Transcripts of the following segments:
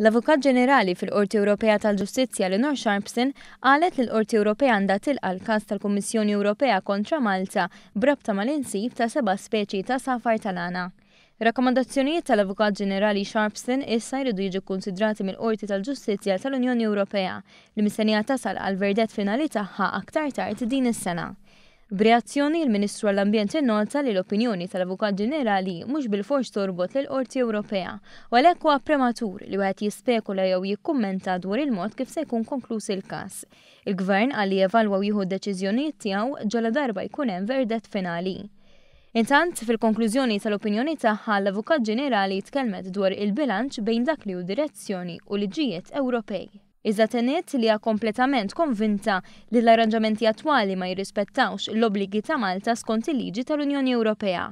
L-Avukat Ġenerali fil-Qorti Ewropea tal-Ġustizzja Eleanor Sharpston qalet li l-Qorti Ewropea għandha tilqa' l-każ tal-Kummissjoni Ewropea kontra Malta b'rabta mal-insib ta' seba' speċi ta' għasafar tal-għana. Rakkomandazzjonijiet tal-Avukat Ġenerali Sharpston issa jridu jiġu kkunsidrati mill-Qorti tal-Ġustizzja tal-Unjoni Ewropea li mistennija tasal għal verdett finali tagħha aktar tard din is-sena. B'reazzjoni, il-Ministru għall-Ambjent innota li l-opinjoni tal-Avukat Ġenerali mhux bilfors torbot lill-Qorti Ewropea u għalhekk huwa prematur li wieħed jispekula jew jikkummenta dwar il-mod kif se jkun konkluż il-każ. Il-Gvern qal li jevalwa u jieħu d-deċiżjonijiet tiegħu ġaladarba jkun hemm verdett finali. Intant, fil-konklużjoni tal-opinjoni tagħha, l-Avukat Ġenerali tkellmet dwar il-bilanċ bejn dak li hu direzzjoni u liġijiet Ewropej. Iżda tenniet li hija kompletament konvinta li l-arranġamenti attwali ma jirrispettawx l-obbligi ta' Malta skont il-liġi tal-Unjoni Ewropea.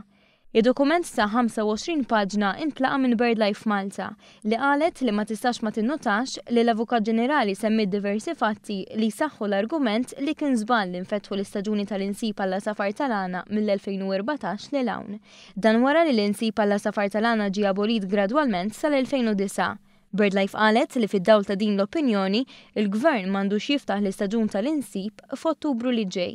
Id-dokument ta' 25 paġna intlaqa' minn BirdLife Malta, li qalet li ma tistax ma tinnotax li l-Avukat Ġenerali semmiet diversi fatti li jsaħħu l-argument li kien żball li nfetħu l-istaġuni tal-insib għall-għasafar tal-għana mill-2014 lil hawn. Dan wara li l-insib għall-għasafar tal-għana ġie abolit gradwalment sal-2009. BirdLife qalet li fid-dawl ta' din l-opinjoni, il-Gvern m'għandux jiftaħ l-istaġun tal-insib f'Ottubru li ġej.